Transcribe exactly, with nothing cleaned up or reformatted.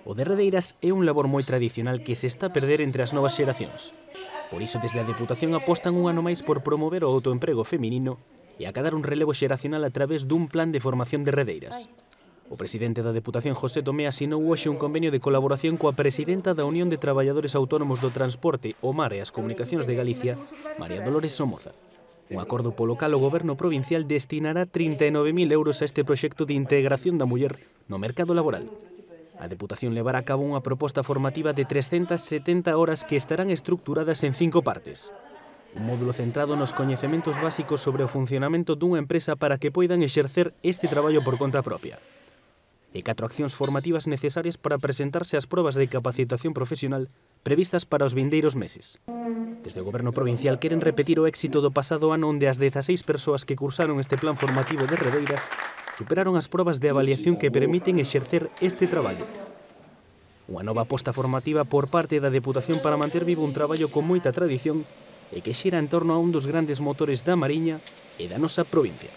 O de redeiras é un labor moi tradicional que se está a perder entre as novas xeracións. Por iso, desde a Deputación apostan un ano máis por promover o autoemprego feminino e acadar un relevo xeracional a través dun plan de formación de redeiras. O presidente da Deputación, José Tomé, asinou hoxe un convenio de colaboración coa presidenta da Unión de Traballadores Autónomos do Transporte, o Mar e as Comunicacións de Galicia, María Dolores Somoza. Un acordo polo cal o Goberno provincial destinará trinta e nove mil euros a este proxecto de integración da muller no mercado laboral. A Deputación levará a cabo unha proposta formativa de trescentas setenta horas que estarán estructuradas en cinco partes. Un módulo centrado nos coñecementos básicos sobre o funcionamento dunha empresa para que poidan exercer este traballo por conta propia. E catro accións formativas necesarias para presentarse ás probas de capacitación profesional previstas para os vindeiros meses. Desde o Goberno provincial queren repetir o éxito do pasado ano onde as dezaseis persoas que cursaron este plan formativo de redeiras superaron as probas de avaliación que permiten exercer este traballo. Unha nova aposta formativa por parte da Deputación para manter vivo un traballo con moita tradición e que xira en torno a un dos grandes motores da Mariña e da nosa provincia.